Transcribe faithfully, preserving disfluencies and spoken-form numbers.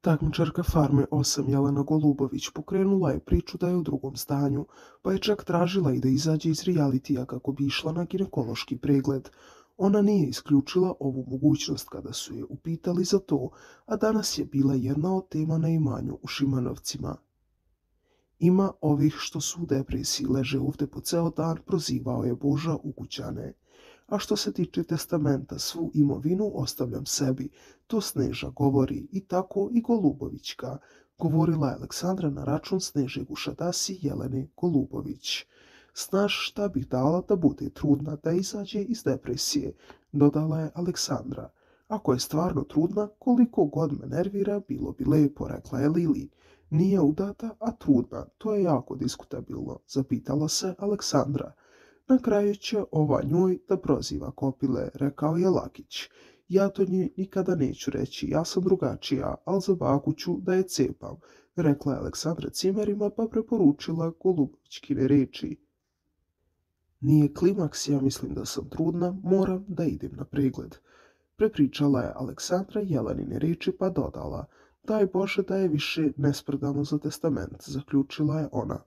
Takmičarka Farme osam Jelena Golubović pokrenula je priču da je u drugom stanju, pa je čak tražila i da izađe iz realitija kako bi išla na ginekološki pregled. Ona nije isključila ovu mogućnost kada su je upitali za to, a danas je bila jedna od tema na imanju u Šimanovcima. Ima ovih što su u depresiji, leže ovde po ceo dan, prozivao je Boža ukućane. A što se tiče testamenta, svu imovinu ostavljam sebi, to Sneža govori, i tako i Golubovićka, govorila je Aleksandra na račun Sneže Gušadasi Jelene Golubović. Znaš šta bih dala da bude trudna, da izađe iz depresije, dodala je Aleksandra. Ako je stvarno trudna, koliko god me nervira, bilo bi lepo, rekla je Lili. Nije udata, a trudna, to je jako diskutabilno, zapitala se Aleksandra. Na kraju će ova njoj da proziva kopile, rekao je Lakić. Ja to njoj nikada neću reći, ja sam drugačija, ali za baku ću da je cepam, rekla je Aleksandra cimerima pa preporučila Golubovićkine reči. Nije klimaks, ja mislim da sam trudna, moram da idem na pregled. Prepričala je Aleksandra Jelenine reči pa dodala. Daj Bože da je više nespredano za testament, zaključila je ona.